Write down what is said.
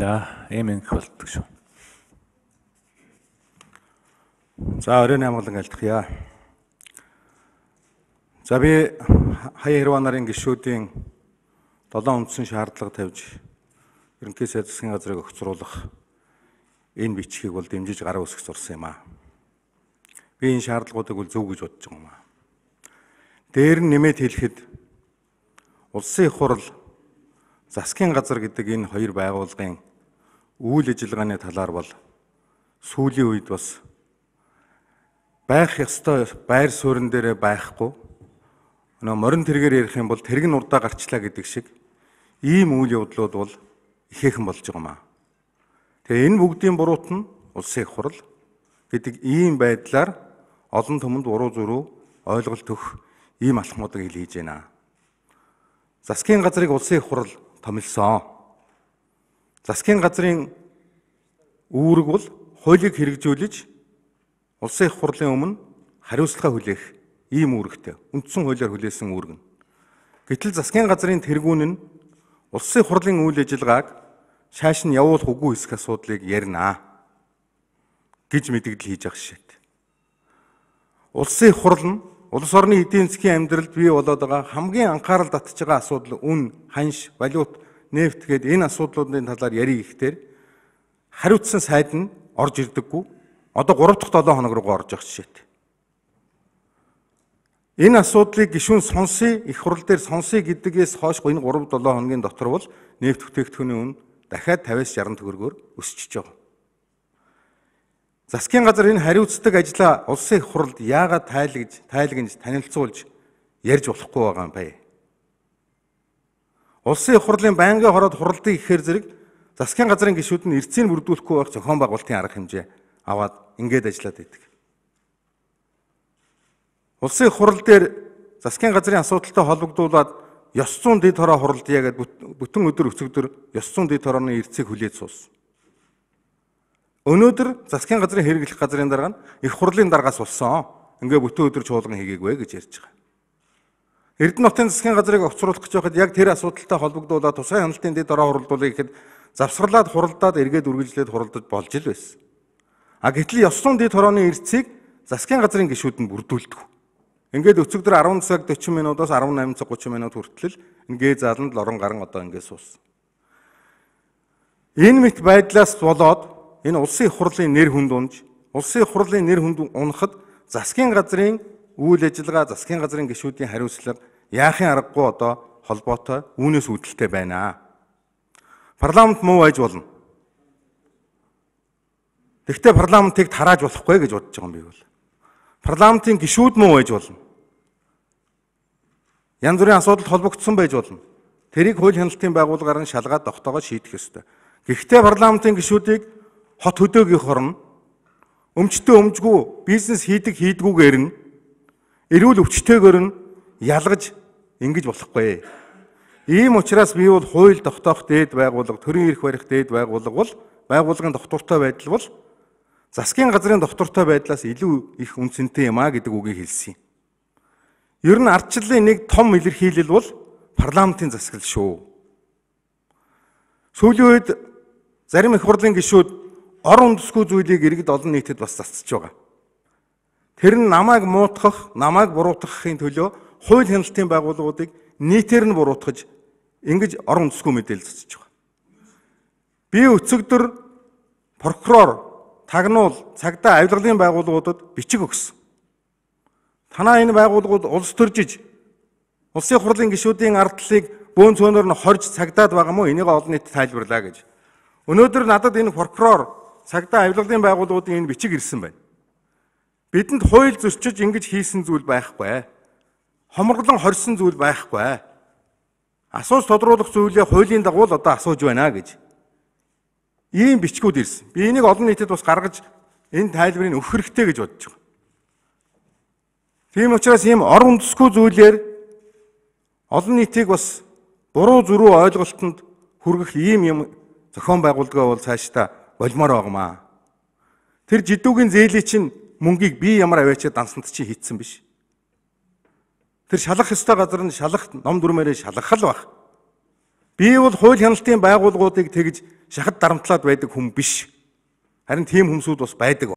За, ийм ингэх болдог шүү. За, оройн амгалан альтгая. За, би хаяа хэрвээ нарын гишүүдийн 7 үндсэн шаардлага тавьж ерөнхий сайд засгийн газрыг огцруулах энэ бичгийг бол дэмжиж гараа үүсгэж сурсан юм аа. Би энэ шаардлагуудыг бол зөв гэж бодож байгаа юм аа. Дээр нь нэмээд хэлэхэд улсын их хурл засгийн газар гэдэг энэ хоёр байгууллагын үйл ажиллагааны талаар бол сүүлийн үед бас байх ёстой байр суурин дээр байхгүй морин тэргээр ярих юм бол тэрэг нь урдаа гарчлаа гэдэг шиг ийм үйл явдлууд бол ихээхэн болж байгаа юм аа. Тэгээ энэ бүгдийн буруут нь улсын их хурл гэдэг ийм байдлаар олон түмэнд уруу зүрүү ойлголт өгөх ийм алхмуудыг хийж байна. Засгийн газрыг улсын их хурл томилсон. Засгийн газрын үүрэг бол хуулийг хэрэгжүүлж улсын их хурлын өмнө хариуцлага хүлээх ийм үүрэгтэй. Үндсэн хуулиар хүлээсэн үүрэг нь. Гэтэл засгийн газрын тэргүүн нь улсын их хурлын үйл ажиллагааг шааш нь явуулах үгүй хэсэх асуудлыг ярина гэж мэдэгдэл хийж байгаа шишээт. Улсын их хурл нь улс орны эдийн засгийн амьдралд бий болоод байгаа хамгийн анхаарал татж байгаа асуудал үн, ханш, валют, нефт гээд энэ асуудлуудын талаар ярих гэхээр хариуцсан сайд нь орж ирдэггүй. Одоо 3 дахь 7 хоног руу орж явах жишээтэй. Энэ асуудлыг гишүүн сонсъё, их хурл дээр сонсъё гэдгээс хойш энэ 3-7 хоногийн дотор бол нефт бүтээгдэхүүний үн дахиад 50-60 төгрөгөөр өсчихөж байгаа. Засгийн газар энэ хариуцдаг ажлаа улсын их хурлд яагаад тайлагж танилцуулж ярьж болохгүй байгаа юм бэ? Улсын их хурлын байнгын хороод хуралдыг ихээр зэрэг засгийн газрын гишүүд нь эрцийг бүрдүүлэхгүй байх зохион байгуулалтын арга хэмжээ аваад ингээд ажиллаад байдаг. Улсын их хурал дээр засгийн газрын асуудалтай холбогдуулаад ёс зүйн дэд хороо хуралдъя гэдэг бүтэн өдөр өцөгдөр ёс зүйн дэд хорооны эрцийг хүлээж суусан. Өнөөдөр засгийн газрын хэрэглэх газрын дарга нь их хурлын даргаас болсон. Ингээ бүтэн өдөр чуулган хийгээгүй гэж ярьж байгаа. Эрдэнэтийн засгийн газрыг огцруулах гэж байхад яг тэр асуудалтай холбогдуулаад тусгай хяналтын дэд хороо хуралдуулъя гэхэд завсгарлаад хуралдаад эргээд үргэлжлээд хуралдаж болж ил байсан. Гэтэл ёс зүйн дэд хорооны эрцийг засгийн газрын гишүүд нь бүрдүүлдэг. Ингээд өцөгдөр 10 цаг 40 минутаас 18 цаг 30 минут хүртэл ингээ зааланд лорон гарan одоо ингээ суусан. Энэ мэт байдлаас болоод энэ улсын их хурлын нэр хүнд унж, улсын их хурлын нэр хүнд унахад засгийн газрын үйл ажиллагаа, засгийн газрын гишүүдийн хариуцлага яахын аргагүй одоо холбоотой үүнээс үүдэлтэй байна. Парламент муу байж болно. Тэгвэл парламентыг тарааж болохгүй гэж бодож байгаа юм би бол. Парламентын гишүүд муу байж болно. Янз бүрийн асуудалд холбогдсон байж болно. Тэрийг хууль хяналтын байгууллагаар нь шалгаад тогтоогоо шийдэх ёстой. Гэхдээ парламентын гишүүдийг хот хөдөөгийнх орно өмчтөө өмжгүй бизнес хийдгүүгээр нь эрүүл өвчтөйгээр нь ялгаж ингэж болохгүй. Ийм учраас би бол хууль тогтоох дээд байгууллага, төрийн эрх барих дээд байгууллага бол байгууллагын доктортой байдал бол засгийн газрын доктортой байдлаас илүү их үнцэнтэй юм а гэдэг үгийг хэлсэн юм. Ер нь ардчлалын нэг том илэрхийлэл бол парламентын засаглал шүү. Сүүлийн үед зарим их хурлын гишүүд ор үндэсгүй зүйлийг иргэд олон нийтэд бас засч байгаа. Тэр нь намайг муутгах, намайг буруутгахын төлөө хууль хяналтын байгууллагуудыг нийтээр нь буруутгаж ингэж ор үндэсгүй мэдээлэл засч байгаа. Би өцөгдөр прокурор, тагнуул, цагдаа авилгалын байгууллагуудад бичиг өгсөн. Танаа энэ байгууллагууд улс төржиж улсын их хурлын гишүүдийн ардлыг бөөн цөөнөр нь хорж цагдаад байгаа мó энийг олон нийтэд тайлбарлаа гэж. Өнөөдөр надад энэ прокурор, цагдаа авилгалын байгууллагуудын энэ бичиг ирсэн байна. Бидэнд хууль зөрчиж ингэж хийсэн зүйл байхгүй. Хомроглон хорьсон зүйл байхгүй. Асууж тодруулах зүйлээ хуулийн дагуу л одоо асууж байна гэж. Ийм бичгүүд ирсэн. Би энийг олон нийтэд бас гаргаж энэ тайлбарыг өгөх хэрэгтэй гэж бодож байгаа. Тийм учраас ийм ор үндэсгүй зүйлээр олон нийтийг бас буруу зүрүү ойлголтод хүргэх ийм юм зохион байгуулалтаа бол цаашдаа болмоор байгаамаа. Тэр жидүүгийн зээлийн чинь мөнгийг би ямар аваачаа дансанд чи хийцсэн биш. Тэр шалах ёстой газар нь шалах ном дүрмээрээ шалгах л баг. Би бол хууль хяналтын байгууллагуудыг тэгж шахад дарамтлаад байдаг хүн биш. Харин тийм хүмүүсүүд бас байдаг.